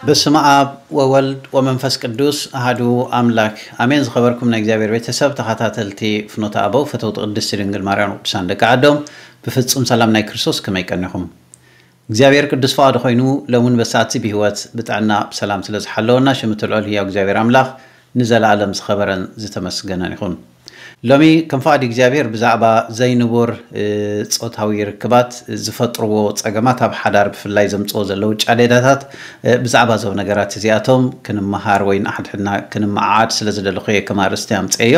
በስመ ኣብ ወወልድ ወመንፈስ ቅዱስ ኣሃዱ ኣምላክ ኣሜን። ዝኸበርኩም ናይ እግዚኣብሔር ቤተሰብ፣ ተኸታተልቲ ፍኖተ ኣበው፣ ፈተውቲ ቅድስቲ ድንግል ማርያም፣ ቅዱሳን ደቂ ዓዶም፣ ብፍጹም ሰላም ናይ ክርስቶስ ከመይ ቀኒኹም? እግዚኣብሔር ቅዱስ ፍቓዱ ኮይኑ፣ ሎምን በሰዓትሲ ብህይወት ብጥዕና ብሰላም ስለ ዝሓለወና፣ ሽም እቲ ልዑል ህያው እግዚኣብሔር ኣምላኽ ንዘለኣለም ዝኸበረን ዝተመስገነን ይኹን። ሎሚ ከም ፍቓድ እግዚኣብሔር ብዛዕባ ዘይንቡር፣ እ፣ ጾታዊ ርክባት ዝፈጥርዎ ጸገማት፣ ኣብ ሓዳር ብፍላይ ዘምጽኦ ዘለዉ ጫሌዳታት፣ እ፣ ብዛዕባ እዞም ነገራት እዚኣቶም ክንመሃር ወይ ንሓድሕድና ክንመዓዓድ ስለ ዝደለኹ እየ ከም ኣርእስቲ ኣምጽኤዮ።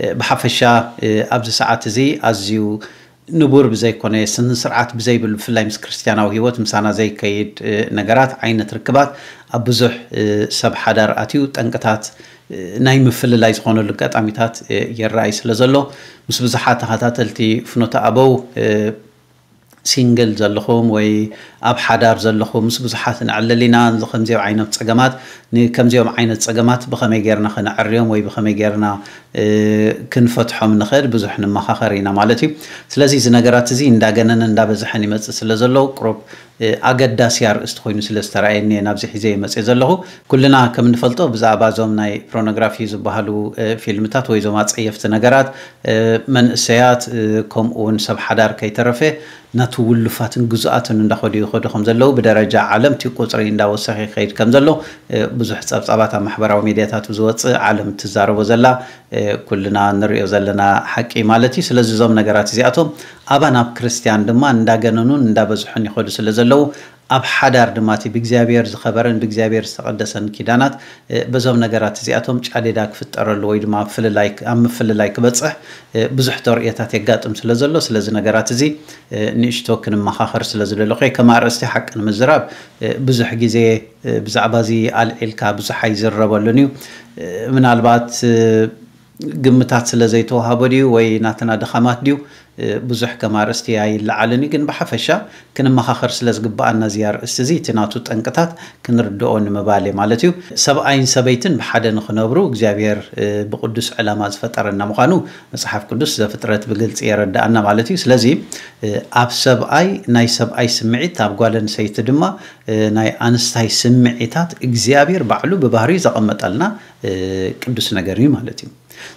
እ፣ ብሓፈሻ፣ እ፣ ኣብዚ ሰዓት እዚ ኣዝዩ ንቡር ብዘይኮነ፣ ስነ ስርዓት ብዘይብሉ፣ ብፍላይ ምስ ክርስትያናዊ ህይወት ምሳና ዘይከይድ፣ እ፣ ነገራት፣ ዓይነት ርክባት ኣብ ብዙሕ፣ እ፣ ሰብ ሓዳር ኣትዩ ጠንቅታት፣ እ፣ ናይ ምፍልላይ ዝኾነሉ ኣጋጣሚታት፣ እ፣ ይረኣይ ስለ ዘሎ፣ ምስ ብዙሓት ተኸታተልቲ ፍኖተ ኣበው፣ እ፣ ሲንግል ዘለኹም ወይ ኣብ ሓዳር ዘለኹም፣ ምስ ብዙሓት ንዕልል ኢና። እዚ ከምዚኦም ዓይነት ጸገማት፣ ንከምዚኦም ዓይነት ጸገማት ብኸመይ ጌርና ከነዕርዮም ወይ ብኸመይ ጌርና፣ እ፣ ክንፈትሖም ንኽእል ብዙሕ ንመኻኸር ኢና ማለት እዩ። ስለዚ እዚ ነገራት እዚ እንዳገነነ እንዳበዝሐን ይመጽእ ስለ ዘሎ፣ ቁሩብ፣ እ፣ ኣገዳሲ ኣርእስቲ ኮይኑ ስለ ዝተረኣየኒ እየ ናብዚ ሒዘ ይመጽእ ዘለኹ። ኩልና ከም እንፈልጦ ብዛዕባ እዞም ናይ ፖርኖግራፊ ዝበሃሉ፣ እ፣ ፊልምታት ወይ እዞም ኣጸየፍቲ ነገራት፣ እ፣ መንእሰያት፣ እ፣ ከምኡ እውን ሰብ ሓዳር ከይተረፈ ናቱ ውሉፋትን ግዙኣትን እንዳኸዱ ይኸዱ ከም ዘለዉ፣ ብደረጃ ዓለም እቲ ቁጽሪ እንዳወሰኸ ይኸይድ ከም ዘሎ፣ እ፣ ብዙሕ ጸብጻባት ኣብ ማሕበራዊ ሚድያታት ዝወጽእ፣ ዓለም እትዛረቦ ዘላ፣ እ፣ ኩልና ንሪኦ ዘለና ሓቂ ማለት እዩ። ስለዚ እዞም ነገራት እዚኣቶም ኣባና ኣብ ክርስትያን ድማ እንዳገነኑን እንዳበዝሑን ይኸዱ ስለ ዘለዉ፣ ኣብ ሓዳር ድማ እቲ ብእግዚኣብሔር ዝኸበረን ብእግዚኣብሔር ዝተቐደሰን ኪዳናት፣ እ፣ በዞም ነገራት እዚኣቶም ጫሌዳ ክፍጠረሉ ወይ ድማ ኣብ ፍልላይ፣ ኣብ ምፍልላይ ክበጽሕ፣ እ፣ ብዙሕ ተርእዮታት የጋጥም ስለ ዘሎ፣ ስለዚ ነገራት እዚ፣ እ፣ ንእሽቶ ክንመኻኸር ስለ ዝደለኹ እየ። ከም ኣርእስቲ ሓቂ ንምዝራብ፣ እ፣ ብዙሕ ግዜ፣ እ፣ ብዛዕባ እዚ ኣልዒልካ ብዙሕ ኣይዝረበሉን እዩ። እ፣ ምናልባት፣ እ፣ ግምታት ስለ ዘይተዋህቦ ድዩ ወይ ናትና ድኻማት ድዩ፣ እ፣ ብዙሕ ከም ኣርእስቲ ኣይለዓልን እዩ። ግን ብሓፈሻ ክንመኻኸር ስለ ዝግብኣና እዚ ኣርእስቲ እዚ፣ እቲ ናቱ ጠንቅታት ክንርድኦ ንምባል እየ ማለት እዩ። ሰብኣይን ሰበይትን ብሓደ ንኽነብሩ እግዚኣብሔር፣ እ፣ ብቅዱስ ዕላማ ዝፈጠረና ምዃኑ መጽሓፍ ቅዱስ ዘፍጥረት ብግልጺ የረድኣና ማለት እዩ። ስለዚ፣ እ፣ ኣብ ሰብኣይ ናይ ሰብኣይ ስምዒት፣ ኣብ ጓል ኣንስተይቲ ድማ፣ እ፣ ናይ ኣንስታይ ስምዒታት እግዚኣብሔር ባዕሉ ብባህሪኡ ዘቐመጠልና፣ እ፣ ቅዱስ ነገር እዩ ማለት እዩ።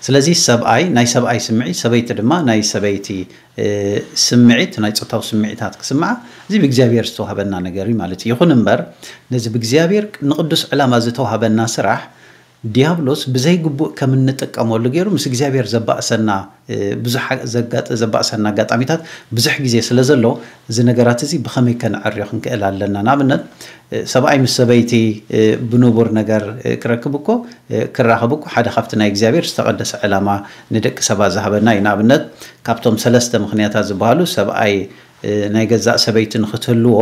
ስለዚ ሰብኣይ ናይ ሰብኣይ ስምዒት፣ ሰበይቲ ድማ ናይ ሰበይቲ፣ እ፣ ስምዒት፣ ናይ ጾታዊ ስምዒታት ክስምዓ፣ እዚ ብእግዚኣብሔር ዝተዋህበና ነገር እዩ ማለት እዩ። ይኹን እምበር፣ ነዚ ብእግዚኣብሔር ንቅዱስ ዕላማ ዝተዋህበና ስራሕ ዲያብሎስ ብዘይግቡእ ከም እንጥቀመሉ ገይሩ ምስ እግዚኣብሔር ዘባእሰና፣ እ፣ ብዙሕ ዘጋጥ-፣ ዘባእሰና ኣጋጣሚታት ብዙሕ ግዜ ስለ ዘሎ፣ እዚ ነገራት እዚ ብኸመይ ከነዕርዮ ክንክእል ኣለና? ንኣብነት፣ እ፣ ሰብኣይ ምስ ሰበይቲ፣ እ፣ ብንቡር ነገር፣ እ፣ ክረክብ እኮ፣ እ፣ ክራኸብ እኮ ሓደ ካብቲ ናይ እግዚኣብሔር ዝተቐደሰ ዕላማ ንደቂ ሰባት ዝሃበና እዩ። ንኣብነት፣ ካብቶም ሰለስተ ምኽንያታት ዝበሃሉ፣ ሰብኣይ፣ እ፣ ናይ ገዛእ ሰበይቲ ንኽትህልዎ፣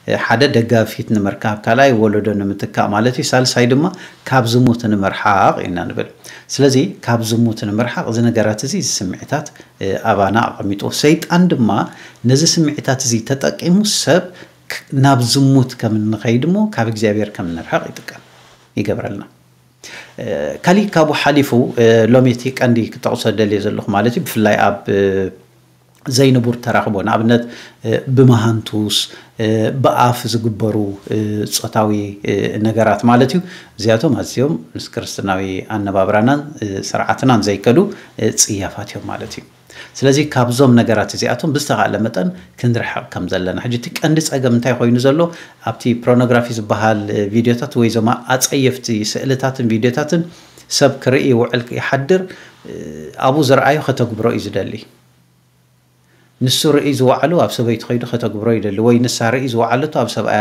እ፣ ሓደ ደጋፊት ንምርካብ፣ ካልኣይ ወለዶ ንምትካእ ማለት እዩ፣ ሳልሳይ ድማ ካብ ዝሙት ንምርሓቕ ኢና ንብል። ስለዚ ካብ ዝሙት ንምርሓቕ እዚ ነገራት እዚ፣ እዚ ስምዒታት፣ እ፣ ኣባና ኣቐሚጡ። ሰይጣን ድማ ነዚ ስምዒታት እዚ ተጠቂሙ ሰብ ክ-፣ ናብ ዝሙት ከም እንኸይድ እሞ ካብ እግዚኣብሔር ከም እንርሕቕ ይጥቀም፣ ይገብረልና። እ፣ ካሊእ ካብኡ ሓሊፉ፣ እ፣ ሎሚ እቲ ቀንዲ ክጠቕሶ ደልየ ዘለኹ ማለት እዩ፣ ብፍላይ ኣብ፣ እ፣ ዘይንቡር ተራኽቦ፣ ንኣብነት፣ እ፣ ብመሃንቱስ፣ እ፣ ብኣፍ ዝግበሩ፣ እ፣ ጾታዊ፣ እ፣ ነገራት ማለት እዩ። እዚኣቶም ኣዝዮም ምስ ክርስትናዊ ኣነባብራናን፣ እ፣ ስርዓትናን ዘይከዱ፣ እ፣ ጽያፋት እዮም ማለት እዩ። ስለዚ ካብዞም ነገራት እዚኣቶም ብዝተኻእለ መጠን ክንርሕቕ ከም ዘለና። ሕጂ እቲ ቀንዲ ጸገም እንታይ ኮይኑ ዘሎ? ኣብቲ ፖርኖግራፊ ዝበሃል፣ እ፣ ቪድዮታት ወይ እዞም ኣጸየፍቲ ስእልታትን ቪድዮታትን ሰብ ክርኢ ይውዕል ይሓድር፣ እ፣ ኣብኡ ዝረኣዮ ከተግብሮ እዩ ዝደሊ። ንሱ ርእዩ ዝወዓሉ ኣብ ሰበይቲ ከይዱ ከተግብሮ ይደሊ፣ ወይ ንሳ ርእዩ ዝወዓለቶ ኣብ ሰብኣያ፣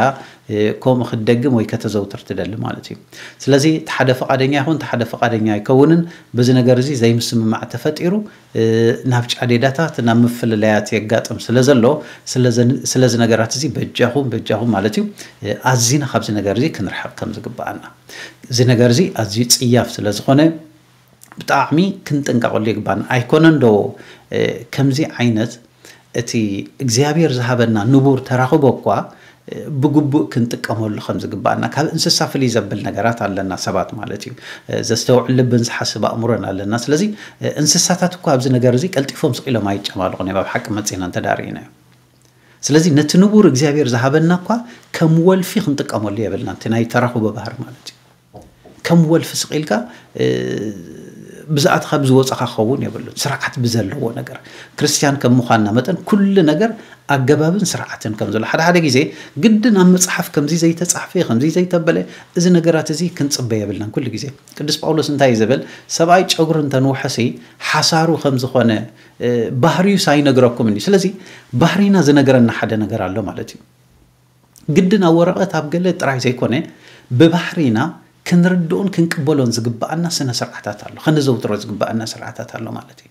እ፣ ከምኡ ክትደግም ወይ ከተዘውትር ትደሊ ማለት እዩ። ስለዚ እቲ ሓደ ፍቓደኛ ይኹን፣ እቲ ሓደ ፍቓደኛ ኣይከውንን፣ በዚ ነገር እዚ ዘይምስምማዕ ተፈጢሩ፣ እ፣ ናብ ጫዴዳታት፣ ናብ ምፍልላያት የጋጥም ስለ ዘሎ፣ ስለዚ፣ ስለዚ ነገራት እዚ በጃኹም፣ በጃኹም ማለት እዩ፣ እ፣ ኣዚና ካብዚ ነገር እዚ ክንርሕቕ ከም ዝግብኣና። እዚ ነገር እዚ ኣዝዩ ጽያፍ ስለ ዝኾነ፣ ብጣዕሚ ክንጥንቀቐሉ ይግባን። ኣይኮነን ዶ፣ እ፣ ከምዚ ዓይነት እቲ እግዚኣብሔር ዝሃበና ንቡር ተራኽቦ እኳ ብግቡእ ክንጥቀመሉ ከም ዝግባኣና፣ ካብ እንስሳ ፍልይ ዘብል ነገራት ኣለና ሰባት ማለት እዩ። ዘስተውዕል ልብን ዝሓስብ ኣእምሮን ኣለና። ስለዚ እንስሳታት እኳ ኣብዚ ነገር እዚ ቀልጢፎም ስቕ ኢሎም ኣይጨማልቑን እዮም፣ ኣብ ሓቂ መጺና እንተ ደኣ ርኢናዮ። ስለዚ ነቲ ንቡር እግዚኣብሔር ዝሃበና እኳ ከም ወልፊ ክንጥቀመሉ የብልናን፣ እቲ ናይ ተራኽቦ ባህሪ ማለት እዩ። ከም ወልፊ ስቕ ኢልካ ብዝኣትኻ ብዝወፀኻ ክኸውን የብሉን። ስርዓት ብዘለዎ ነገር፣ ክርስትያን ከም ምዃንና መጠን ኩሉ ነገር ኣገባብን ስርዓትን ከም ዘሎ፣ ሓደ ሓደ ግዜ ግድን ኣብ መፅሓፍ ከምዚ ዘይተፃሕፈ፣ ከምዚ ዘይተበለ፣ እዚ ነገራት እዚ ክንፅበ የብልናን። ኩሉ ግዜ ቅዱስ ጳውሎስ እንታይ እዩ ዝብል? ሰብኣይ ጨጉሪ እንተንውሐሲ ሓሳሩ ከም ዝኾነ ባህርዩስ ኣይነግረኩምን እዩ። ስለዚ ባህሪና ዝነግረና ሓደ ነገር ኣሎ ማለት እዩ። ግድን ኣብ ወረቐት ኣብ ገለ ጥራይ ዘይኮነ፣ ብባህሪና ክንርድኦን ክንቅበሎን ዝግባኣና ስነ ስርዓታት ኣሎ፣ ከነዘውትሮ ዝግባኣና ስርዓታት ኣሎ ማለት እዩ።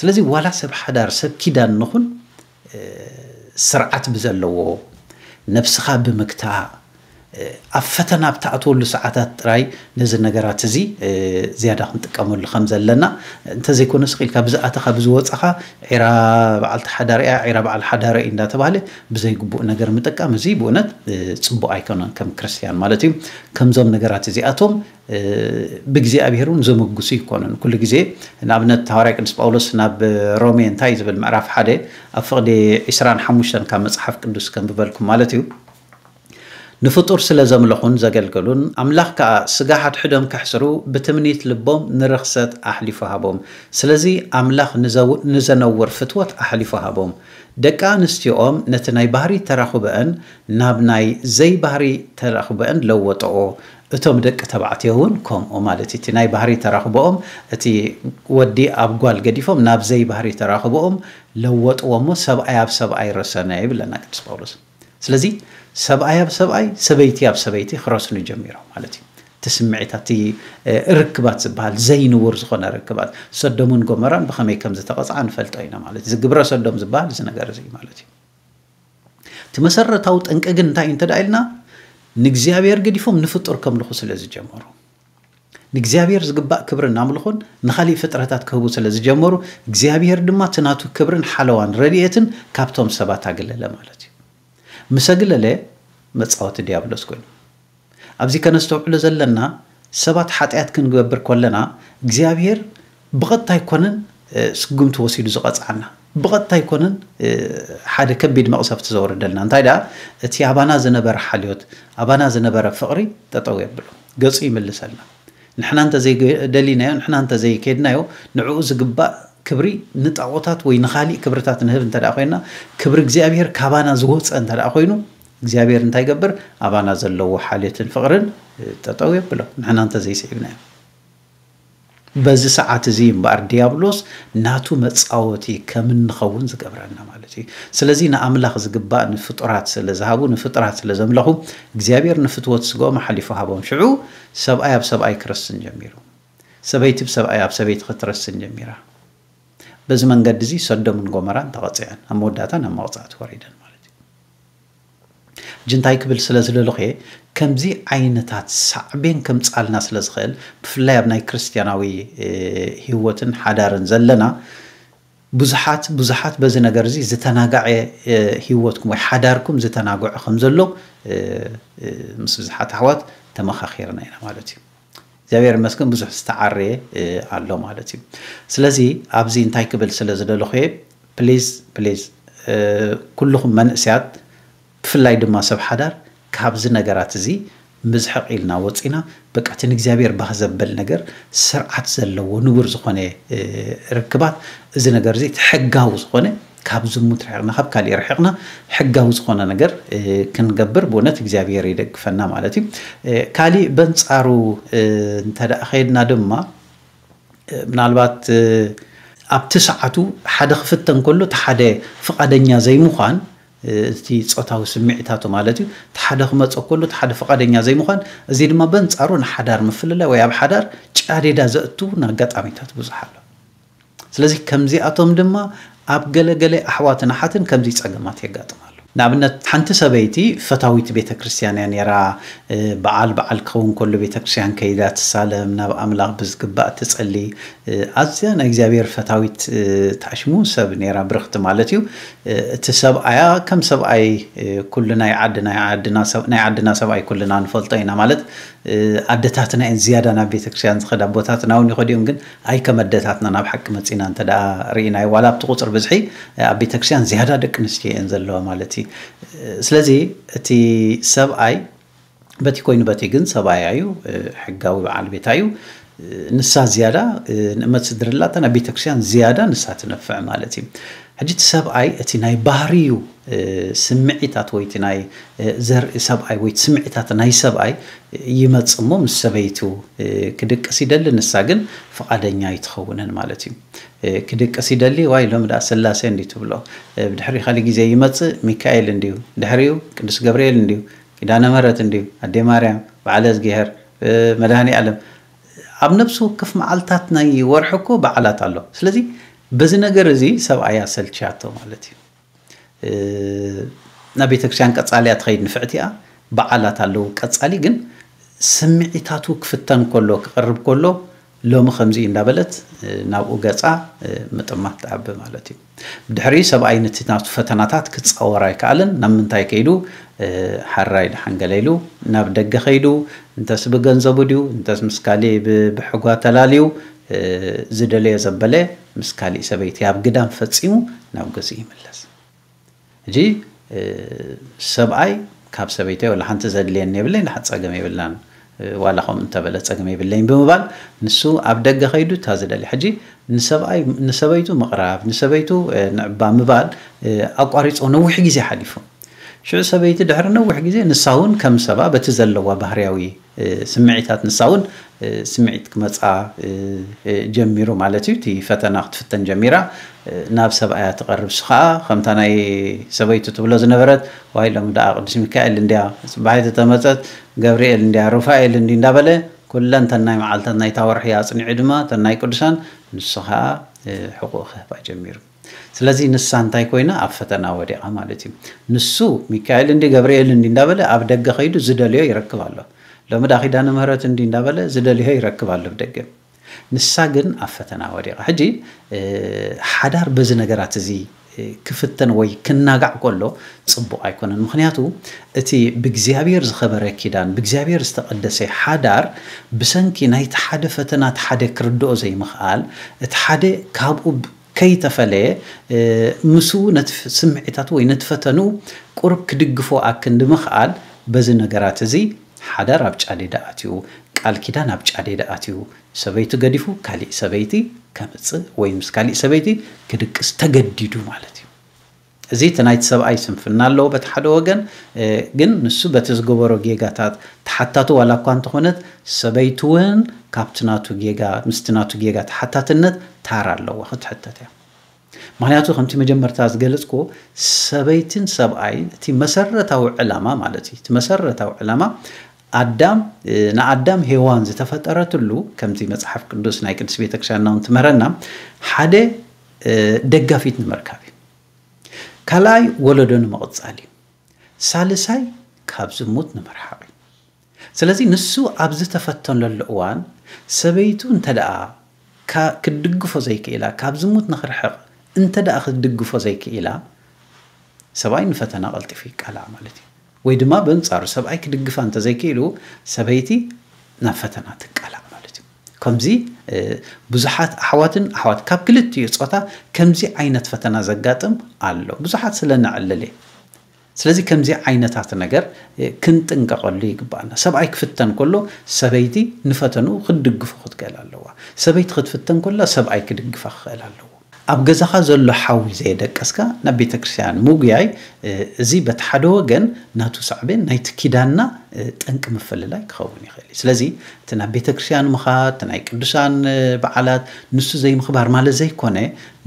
ስለዚ ዋላ ሰብ ሓዳር ሰብ ኪዳን ንኹን፣ ስርዓት ብዘለዎ፣ ነብስኻ ብምግታእ፣ ኣብ ፈተና ኣብ ትኣትወሉ ሰዓታት ጥራይ ነዚ ነገራት እዚ ዝያዳ ክንጥቀመሉ ከም ዘለና፣ እንተዘይኮነ ስቕ ኢልካ ብዝኣተኻ ብዝወፀኻ፣ ዒራ በዓልቲ ሓዳር እያ፣ ዒራ በዓል ሓዳር እዩ እንዳተባህለ ብዘይግቡእ ነገር ምጥቃም፣ እዚ ብእውነት ፅቡቕ ኣይኮነን ከም ክርስትያን ማለት እዩ። ከምዞም ነገራት እዚኣቶም ብእግዚኣብሔር እውን ዘመጉሱ ይኮኑን። ኩሉ ግዜ ንኣብነት ሃዋርያ ቅዱስ ጳውሎስ ናብ ሮሜ እንታይ ዝብል? ምዕራፍ ሓደ ኣብ ፍቕዲ ዕስራን ሓሙሽተን ካብ መጽሓፍ ቅዱስ ከንብበልኩም ማለት እዩ። ንፍጡር ስለ ዘምለኹን ዘገልገሉን፣ ኣምላኽ ከኣ ስጋ ሓድሕዶም ከሕስሩ ብትምኒት ልቦም ንርኽሰት ኣሕሊፉ ሃቦም። ስለዚ ኣምላኽ ንዘው-፣ ንዘነውር ፍትወት ኣሕሊፉ ሃቦም። ደቂ ኣንስትዮኦም ነቲ ናይ ባህሪ ተራኽቦአን ናብ ናይ ዘይባህሪ ተራኽቦአን ለወጠኦ። እቶም ደቂ ተባዕትዮ እውን ከምኡ ማለት እዩ። እቲ ናይ ባህሪ ተራኽቦኦም፣ እቲ ወዲ ኣብ ጓል ገዲፎም ናብ ዘይባህሪ ተራኽቦኦም ለወጥዎ እሞ ሰብኣይ ኣብ ሰብኣይ ረሰነ ይብለና ቅዱስ ጳውሎስ። ስለዚ ሰብኣይ ኣብ ሰብኣይ፣ ሰበይቲ ኣብ ሰበይቲ ክረስኑ ጀሚሮም ማለት እዩ። እቲ ስምዒታት፣ እቲ ርክባት ዝበሃል ዘይንቡር ዝኾነ ርክባት፣ ሰዶምን ጎመራን ብኸመይ ከም ዝተቐጽዓ ንፈልጦ ኢና ማለት እዩ። እዚ ግብረ ሰዶም ዝበሃል እዚ ነገር እዚ ማለት እዩ። እቲ መሰረታዊ ጠንቂ ግን እንታይ እዩ እንተ ደኣ ኢልና፣ ንእግዚኣብሔር ገዲፎም ንፍጡር ከምልኹ ስለ ዝጀመሩ፣ ንእግዚኣብሔር ዝግባእ ክብርን ኣምልኾን ንኻሊእ ፍጥረታት ክህቡ ስለ ዝጀመሩ፣ እግዚኣብሔር ድማ እቲ ናቱ ክብርን ሓለዋን ረድኤትን ካብቶም ሰባት ኣግለለ ማለት እዩ። ምስ ኣግለለ፣ መጻወቲ ዲያብሎስ ኮይኑ። ኣብዚ ከነስተውዕሎ ዘለና፣ ሰባት ሓጢኣት ክንገብር ከለና እግዚኣብሔር ብቐጥታ ኣይኮነን ስጉምቲ ወሲዱ ዝቐጽዓና፣ ብቐጥታ ኣይኮነን ሓደ ከቢድ መቕሰፍቲ ዘውርደልና። እንታይ ደኣ፣ እቲ ኣባና ዝነበረ ሓልዮት፣ ኣባና ዝነበረ ፍቕሪ ጠጠው የብሎ፣ ገጹ ይምልሰልና። ንሕና እንተዘይደሊናዮ፣ ንሕና እንተዘይከድናዮ፣ ንዕኡ ዝግባእ ክብሪ ንጣዖታት ወይ ንኻሊእ ክብርታት ንህብ እንተ ደኣ ኮይና፣ ክብሪ እግዚኣብሔር ካባና ዝወፀ እንተ ደኣ ኮይኑ፣ እግዚኣብሔር እንታይ ይገብር? ኣባና ዘለዎ ሓልዮትን ፍቕርን ጠጠው የብሎ፣ ንሕና እንተዘይስዒብናዮ። በዚ ሰዓት እዚ እምበኣር ዲያብሎስ ናቱ መጻወቲ ከም እንኸውን ዝገብረና ማለት እዩ። ስለዚ ንኣምላኽ ዝግባእ ንፍጡራት ስለ ዝሃቡ፣ ንፍጡራት ስለ ዘምለኹ፣ እግዚኣብሔር ንፍትወት ስጋኦም ኣሓሊፉ ሃቦም። ሽዑ ሰብኣይ ኣብ ሰብኣይ ክርስትን ጀሚሩ። ሰበይቲ ብሰብኣይ ኣብ ሰበይቲ ክትረስን ጀሚራ። በዚ መንገዲ እዚ ሰዶምን ጎመራን ተቐጺዐን፣ ኣብ መወዳእታ ናብ መቕጻዕቲ ወሪደን ማለት እዩ። ሕጂ እንታይ ክብል ስለ ዝደለኹ እየ፣ ከምዚ ዓይነታት ሳዕቤን ከምጻልና ስለ ዝኽእል፣ ብፍላይ ኣብ ናይ ክርስትያናዊ፣ እ፣ ህይወትን ሓዳርን ዘለና፣ ብዙሓት፣ ብዙሓት በዚ ነገር እዚ ዝተናጋዐ፣ እ፣ ህይወትኩም ወይ ሓዳርኩም ዝተናግዖ ከም ዘሎ፣ እ፣ እ፣ ምስ ብዙሓት ኣሕዋት ተመኻኺርና ኢና ማለት እዩ። እግዚኣብሔር ይመስገን ብዙሕ ዝተዓረየ፣ እ፣ ኣሎ ማለት እዩ። ስለዚ ኣብዚ እንታይ ክብል ስለ ዝደለኹ እየ፣ ፕሊዝ፣ ፕሊዝ፣ እ፣ ኩልኹም መንእሰያት ብፍላይ ድማ ሰብ ሓዳር ካብዚ ነገራት እዚ ምዝሕቕ ኢልና ወፂና፣ በቃ እቲ ንእግዚኣብሔር ባህ ዘበል ነገር፣ ስርዓት ዘለዎ ንቡር ዝኾነ፣ እ፣ ርክባት፣ እዚ ነገር እዚ እቲ ሕጋዊ ዝኾነ ካብ ዝሙት ርሕቕና፣ ካብ ካሊእ ርሕቕና፣ ሕጋዊ ዝኾነ ነገር፣ እ፣ ክንገብር ብእውነት እግዚኣብሔር ይደግፈና ማለት እዩ። እ፣ ካሊእ በንጻሩ፣ እ፣ እንተ ደኣ ኸይድና ድማ፣ እ፣ ምናልባት፣ እ፣ ኣብቲ ሰዓቱ ሓደ ክፍተን ከሎ እቲ ሓደ ፍቓደኛ ዘይምዃን፣ እ፣ እቲ ጾታዊ ስምዒታቱ ማለት እዩ፣ እቲ ሓደ ክመጾ ከሎ እቲ ሓደ ፍቓደኛ ዘይምዃን፣ እዚ ድማ በንጻሩ ንሓዳር ምፍልላይ ወይ ኣብ ሓዳር ጫዴዳ ዘእቱ ኣጋጣሚታት ብዙሕ ኣሎ። ስለዚ ከምዚኣቶም ድማ ኣብ ገለ ገለ ኣሕዋትን ኣሓትን ከምዚ ጸገማት የጋጥም ኣሎ። ንኣብነት ሓንቲ ሰበይቲ ፈታዊት ቤተ ክርስቲያን እያ ነይራ። በዓል በዓል ክኸውን ከሎ ቤተ ክርስቲያን ከይዳ ትሳለም፣ ናብ ኣምላኽ ብዝግባእ ትጸሊ፣ ኣዝያ ናይ እግዚኣብሔር ፈታዊት ታሽሙ ሰብ ነይራ፣ ብርኽቲ ማለት እዩ። እቲ ሰብኣያ ከም ሰብኣይ ኩልና ናይ ዓድና ናይ ዓድና ሰብኣይ ኩልና ንፈልጦ ኢና ማለት ኣደታትና እየን ዝያዳ ናብ ቤተክርስትያን ዝኸዳ ኣቦታትና እውን ይኸዱ እዮም ግን ኣይ ከም ኣደታትና ናብ ሓቂ መፂና እንተ ርኢናዮ ዋላ ኣብቲ ቁፅር ብዝሒ ኣብ ቤተክርስትያን ዝያዳ ደቂ ኣንስትዮ እየን ዘለዋ ማለት እዩ ስለዚ እቲ ሰብኣይ በቲ ኮይኑ በቲ ግን ሰብኣያ እዩ ሕጋዊ በዓል ቤታ እዩ ንሳ ዝያዳ ንእመት ስድርላታ ናብ ቤተክርስትያን ዝያዳ ንሳ ትነፍዕ ማለት እዩ ሕጂ እቲ ሰብኣይ እቲ ናይ ባህርዩ ስምዒታት ወይ እቲ ናይ ዘርኢ ሰብኣይ ወይ ስምዒታት ናይ ሰብኣይ ይመጽእ እሞ ምስ ሰበይቱ ክድቅስ ይደሊ ንሳ ግን ፍቓደኛ ኣይትኸውንን ማለት እዩ ክድቅስ ይደሊ ዋይ ሎም ዳ ስላሴ እንዲ ትብሎ ብድሕሪ ካሊ ግዜ ይመጽእ ሚካኤል እንዲዩ ድሕሪዩ ቅዱስ ገብርኤል እንዲዩ ኪዳነ ምህረት እንዲዩ ኣዴ ማርያም በዓለ እዝግሄር መድሃኒ ዓለም ኣብ ነብሲ ወከፍ መዓልታት ናይ ወርሒ እኮ በዓላት ኣሎ ስለዚ በዚ ነገር እዚ ሰብኣያ ሰልችያቶ ማለት እዩ ናብ ቤተክርስትያን ቀጻሊ እያ ትኸይድ ንፍዕቲ እያ በዓላት ኣለዉ ቀጻሊ ግን ስምዒታቱ ክፍተን ከሎ ክቐርብ ከሎ ሎሚ ከምዚ እንዳበለት ናብኡ ገጻ ምጥማት ትዓቢ ማለት እዩ ብድሕሪ ሰብኣይ ነቲ ናቱ ፈተናታት ክጻወር ኣይከኣለን ናብ ምንታይ ከይዱ ሓራይ ድሓን ገለ ኢሉ ናብ ደገ ከይዱ እንተስ ብገንዘቡ ድዩ እንተስ ምስ ካሊእ ብሕጓ ተላልዩ ዝደለዮ ዘበለ ምስ ካሊእ ሰበይቲ ኣብ ግዳም ፈጺሙ ናብ ገዝኡ ይምለስ ሕጂ ሰብኣይ ካብ ሰበይተይ ወላ ሓንቲ ዘድልየኒ የብለይ ንሓ ፀገም የብልናን ዋላ ከምኡ እንተበለ ፀገም የብለይን ብምባል ንሱ ኣብ ደገ ከይዱ እታ ዝደሊ ሕጂ ንሰብኣይ ንሰበይቱ ምቕራብ ንሰበይቱ ንዕባ ምባል ኣቋሪፆ ነዊሕ ግዜ ሓሊፉ ሽዑ ሰበይቲ ድሕሪ ነዊሕ ግዜ ንሳ እውን ከም ሰባ በቲ ዘለዋ ባህርያዊ ስምዒታት ንሳ እውን ስምዒት ክመፃ ጀሚሩ ማለት እዩ እቲ ፈተና ክትፍተን ጀሚራ ናብ ሰብኣያ ትቐርብ እሱ ከዓ ከምታ ናይ ሰበይቱ ትብሎ ዝነበረት ዋይ ሎም ደኣ ቅዱስ ሚካኤል እንድያ ፅባሒት ተመፀት ገብርኤል እንድያ ሩፋኤል እንዲ እንዳበለ ኩለን ተናይ መዓልታት ናይታ ወርሒ ኣፅኒዑ ድማ ተናይ ቅዱሳን ንሱ ከዓ ሕቁ ክህባ ጀሚሩ ስለዚ ንሳ እንታይ ኮይና ኣብ ፈተና ወዲቓ ማለት እዩ ንሱ ሚካኤል እንዲ ገብርኤል እንዲ እንዳበለ ኣብ ደገ ከይዱ ዝደልዮ ይረክብ ኣሎ ሎሚ ዳ ኪዳነ ምህረት እንዲ እንዳበለ ዝደልዮ ይረክብ ኣሎ ደገ ንሳ ግን ኣብ ፈተና ወዲቓ ሕጂ ሓዳር በዚ ነገራት እዚ ክፍተን ወይ ክናጋዕ ከሎ ጽቡቕ ኣይኮነን ምክንያቱ እቲ ብእግዚኣብሔር ዝኸበረ ኪዳን ብእግዚኣብሔር ዝተቐደሰ ሓዳር ብሰንኪ ናይቲ ሓደ ፈተና እቲ ሓደ ክርድኦ ዘይምኽኣል እቲ ሓደ ካብኡ ከይተፈለየ ምስኡ ነቲ ስምዒታቱ ወይ ነቲ ፈተንኡ ቁሩብ ክድግፎ ኣክንዲ ምኽኣል በዚ ነገራት እዚ ሓዳር ኣብ ጫዴዳ ኣትዩ ቃል ኪዳን ኣብ ጫዴዳ ኣትዩ ሰበይቱ ገዲፉ ካሊእ ሰበይቲ ከምፅእ ወይ ምስ ካሊእ ሰበይቲ ክድቅስ ተገዲዱ ማለት እዩ። እዚ እቲ ናይቲ ሰብኣይ ስንፍና ኣለዎ በቲ ሓደ ወገን፣ ግን ንሱ በቲ ዝገበሮ ጌጋታት ተሓታቱ ዋላ እኳ እንተኾነት፣ ሰበይቲ እውን ካብቲ ናቱ ጌጋ ምስቲ ናቱ ጌጋ ተሓታትነት ታራ ኣለዋ፣ ክትሕተት እያ። ምኽንያቱ ከምቲ መጀመርታ ዝገለጽክዎ ሰበይትን ሰብኣይን እቲ መሰረታዊ ዕላማ ማለት እዩ። እቲ መሰረታዊ ዕላማ ኣዳም ንኣዳም ሄዋን ዝተፈጠረትሉ ከምቲ መጽሓፍ ቅዱስ ናይ ቅድስት ቤተክርስትያንና እውን ትምህረና ሓደ ደጋፊት ንምርካብ እዩ። ካልኣይ ወለዶ ንምቕጻል እዩ። ሳልሳይ ካብ ዝሙት ንምርሓቕ እዩ። ስለዚ ንሱ ኣብ ዝተፈተነሉ እዋን ሰበይቱ እንተ ደኣ ክትድግፎ ዘይክኢላ፣ ካብ ዝሙት ንኽርሕቕ እንተ ደኣ ክትድግፎ ዘይክኢላ፣ ሰብኣይ ንፈተና ቀልጢፉ ይቃላዕ ማለት እዩ። ወይ ድማ በንጻሩ ሰብኣይ ክድግፋ እንተዘይክኢሉ ሰበይቲ ናብ ፈተና ትቃላዕ ማለት እዩ። ከምዚ ብዙሓት ኣሕዋትን ኣሕዋት ካብ ክልቲኡ ጾታ ከምዚ ዓይነት ፈተና ዘጋጥም ኣሎ። ብዙሓት ስለ ነዕልል እየ። ስለዚ ከምዚ ዓይነታት ነገር ክንጥንቀቐሉ ይግባኣና። ሰብኣይ ክፍተን ከሎ ሰበይቲ ንፈተንኡ ክትድግፎ ክትክእል ኣለዋ። ሰበይቲ ክትፍተን ከላ ሰብኣይ ክድግፋ ክኽእል ኣለዎ። ኣብ ገዛኻ ዘሎ ሓዊ ዘየደቀስካ ናብ ቤተ ክርስቲያን ምጉያይ እዚ በቲ ሓደ ወገን ናቱ ሳዕቤን ናይቲ ኪዳንና ጠንቂ ምፍልላይ ክኸውን ይኽእል እዩ። ስለዚ እቲ ናብ ቤተ ክርስቲያን ምኻድ፣ እቲ ናይ ቅዱሳን በዓላት ንሱ ዘይምኽባር ማለት ዘይኮነ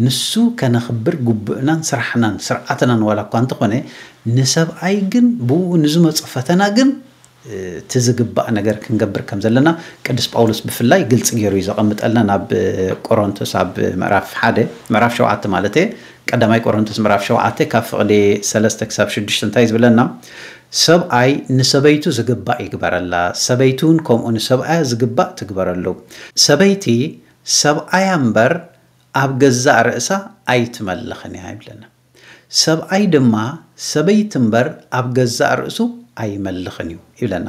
ንሱ ከነኽብር ግቡእናን ስራሕናን ስርዓትናን ዋላ እኳ እንተኾነ ንሰብኣይ ግን ብኡ ንዝመፁ ፈተና ግን እቲ ዝግባእ ነገር ክንገብር ከም ዘለና ቅዱስ ጳውሎስ ብፍላይ ግልፂ ገይሩ እዩ ዘቐምጠልና። ናብ ቆሮንቶስ ኣብ ምዕራፍ ሓደ፣ ምዕራፍ ሸውዓተ ማለት እየ፣ ቀዳማይ ቆሮንቶስ ምዕራፍ ሸውዓተ ካብ ፍቕዲ ሰለስተ ክሳብ ሽዱሽተ እንታይ ዝብለና? ሰብኣይ ንሰበይቱ ዝግባእ ይግበረላ፣ ሰበይቲ እውን ከምኡ ንሰብኣያ ዝግባእ ትግበረሉ። ሰበይቲ ሰብኣያ እምበር ኣብ ገዛእ ርእሳ ኣይትመልኽን እያ ይብለና። ሰብኣይ ድማ ሰበይቲ እምበር ኣብ ገዛእ ርእሱ ኣይመልኽን እዩ ይብለና።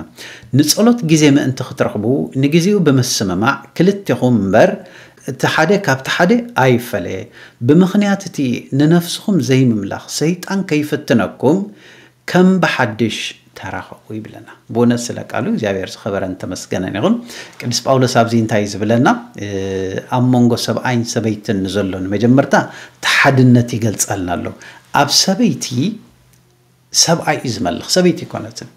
ንጸሎት ግዜ ምእንቲ ክትረኽቡ ንግዜኡ ብምስምማዕ ክልቴኹም እምበር እቲ ሓደ ካብቲ ሓደ ኣይፈለየ። ብምኽንያት እቲ ንነፍስኹም ዘይምምላኽ ሰይጣን ከይፍትነኩም ከም ብሓድሽ ተራኸቡ ይብለና። ብእውነት ስለ ቃሉ እግዚኣብሔር ዝኸበረን ተመስገነን ይኹን። ቅዱስ ጳውሎስ ኣብዚ እንታይ እዩ ዝብለና? ኣብ መንጎ ሰብኣይን ሰበይትን ንዘሎ ንመጀመርታ እቲ ሓድነት ይገልጸልና ኣሎ። ኣብ ሰበይቲ ሰብኣይ እዩ ዝመልኽ፣ ሰበይቲ ኣይኮነትን።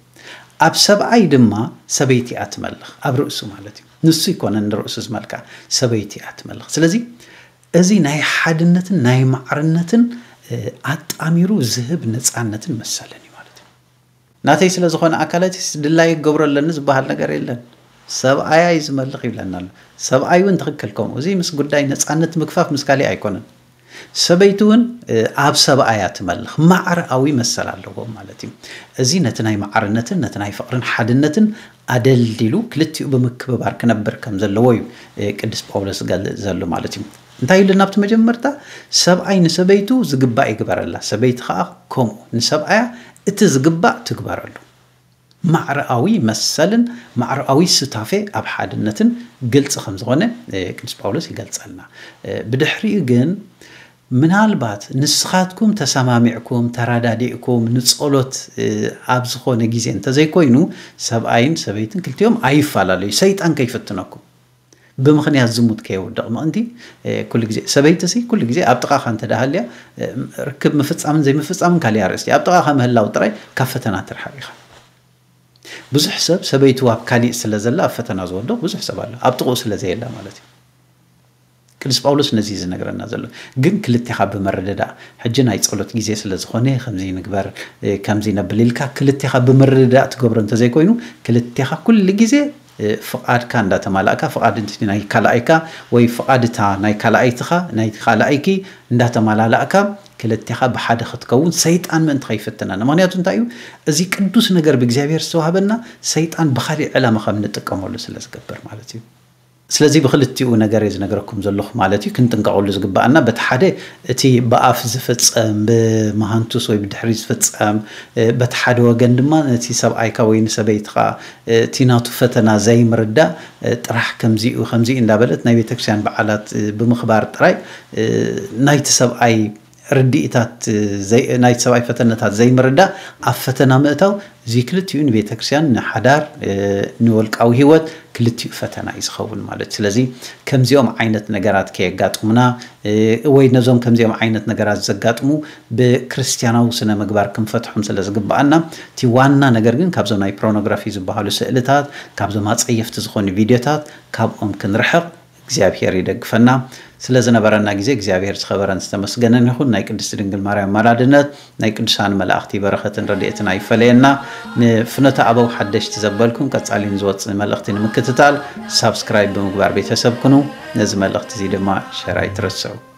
ኣብ ሰብኣይ ድማ ሰበይቲ እያ ትመልኽ፣ ኣብ ርእሱ ማለት እዩ። ንሱ ኣይኮነን ንርእሱ ዝመልካ፣ ሰበይቲ እያ ትመልኽ። ስለዚ እዚ ናይ ሓድነትን ናይ ማዕርነትን ኣጣሚሩ ዝህብ ነፃነትን መሰልን እዩ ማለት እዩ። ናተይ ስለ ዝኾነ ኣካላትስ ድላይ ክገብሮ ኣለኒ ዝበሃል ነገር የለን። ሰብኣያ እዩ ዝመልኽ ይብለና ኣሎ። ሰብኣይ እውን ትኽክል ከምኡ። እዚ ምስ ጉዳይ ነፃነት ምግፋፍ ምስ ካሊእ ኣይኮነን። ሰበይቲ እውን ኣብ ሰብኣያ ትመልኽ ማዕረኣዊ መሰል ኣለዎም ማለት እዩ። እዚ ነቲ ናይ ማዕርነትን ነቲ ናይ ፍቕርን ሓድነትን ኣደልዲሉ ክልቲኡ ብምክብባር ክነብር ከም ዘለዎ እዩ ቅዱስ ጳውሎስ ዝገልጽ ዘሎ ማለት እዩ። እንታይ ኢሉ ናብቲ መጀመርታ? ሰብኣይ ንሰበይቱ ዝግባእ ይግበረላ፣ ሰበይቲ ከዓ ከምኡ ንሰብኣያ እቲ ዝግባእ ትግበረሉ። ማዕረኣዊ መሰልን ማዕረኣዊ ስታፌ ኣብ ሓድነትን ግልፂ ከም ዝኾነ ቅዱስ ጳውሎስ ይገልፀልና። ብድሕሪኡ ግን ምናልባት ንስኻትኩም ተሰማሚዕኩም ተራዳዲእኩም ንጸሎት ኣብ ዝኾነ ግዜ እንተዘይኮይኑ ሰብኣይን ሰበይትን ክልቲኦም ኣይፈላለዩ፣ ሰይጣን ከይፍትነኩም። ብምኽንያት ዝሙት ከየውድቕ ምእንቲ ኩሉ ግዜ ሰበይቲ ሲ ኩሉ ግዜ ኣብ ጥቓኻ እንተ ደሃልያ ርክብ ምፍጻምን ዘይምፍጻምን ካሊእ ኣርእስቲ፣ ኣብ ጥቓኻ ምህላው ጥራይ ካብ ፈተና ትርሓቕ ኢኻ። ብዙሕ ሰብ ሰበይቱ ኣብ ካሊእ ስለ ዘላ ኣብ ፈተና ዝወድቕ ብዙሕ ሰብ ኣሎ፣ ኣብ ጥቕኡ ስለ ዘየላ ማለት እዩ። ቅዱስ ጳውሎስ ነዚ እዩ ዝነግረና ዘሎ። ግን ክልቴኻ ብምርድዳእ፣ ሕጂ ናይ ጸሎት ግዜ ስለ ዝኾነ ከምዚ ንግበር፣ ከምዚ ነብል ኢልካ ክልቴኻ ብምርድዳእ ትገብሮ እንተዘይኮይኑ፣ ክልቴኻ ኩሉ ግዜ ፍቓድካ እንዳተማላእካ፣ ፍቓድ እቲ ናይ ካልኣይካ ወይ ፍቓድ እታ ናይ ካልኣይትኻ፣ ናይ ካልኣይኪ እንዳተማላላእካ፣ ክልቴኻ ብሓደ ክትከውን ሰይጣን ምእንቲ ከይፍትነና። ምኽንያቱ እንታይ እዩ? እዚ ቅዱስ ነገር ብእግዚኣብሔር ዝተዋህበና ሰይጣን ብኻሊእ ዕላማ ከም ንጥቀመሉ ስለ ዝገብር ማለት እዩ። ስለዚ ብክልቲኡ ነገር እየ ዝነግረኩም ዘለኹ ማለት እዩ። ክንጥንቀቐሉ ዝግባኣና በቲ ሓደ እቲ ብኣፍ ዝፍጸም ብመሃንቱስ ወይ ብድሕሪ ዝፍጸም፣ በቲ ሓደ ወገን ድማ ነቲ ሰብኣይካ ወይ ንሰበይትኻ እቲ ናቱ ፈተና ዘይምርዳእ ጥራሕ ከምዚኡ ከምዚኡ እንዳበለት ናይ ቤተክርስትያን በዓላት ብምኽባር ጥራይ ናይቲ ሰብኣይ ርድኢታት ናይቲ ሰብኣይ ፈተነታት ዘይምርዳእ ኣብ ፈተና ምእታው እዚ ክልቲኡ ንቤተ ክርስቲያን ንሓዳር ንወልቃዊ ህይወት ክልቲኡ ፈተና እዩ ዝኸውን ማለት። ስለዚ ከምዚኦም ዓይነት ነገራት ከየጋጥሙና ወይ ነዞም ከምዚኦም ዓይነት ነገራት ዘጋጥሙ ብክርስትያናዊ ስነ ምግባር ክንፈትሖም ስለ ዝግባኣና፣ እቲ ዋና ነገር ግን ካብዞም ናይ ፖርኖግራፊ ዝበሃሉ ስእልታት፣ ካብዞም ኣጸየፍቲ ዝኾኑ ቪድዮታት ካብኦም ክንርሕቕ እግዚኣብሔር ይደግፈና። ስለ ዝነበረና ግዜ እግዚኣብሔር ዝኸበረን ዝተመስገነን ይኹን። ናይ ቅድስቲ ድንግል ማርያም ኣማላድነት፣ ናይ ቅዱሳን መላእኽቲ በረኸትን ረድኤትን ኣይፈለየና። ንፍኖተ ኣበው ሓደሽቲ ዘበልኩም ቀጻሊ ንዝወጽእ መልእኽቲ ንምክትታል ሳብስክራይብ ብምግባር ቤተሰብ ኩኑ። ነዚ መልእኽቲ እዚ ድማ ሸር ኣይትረስዑ።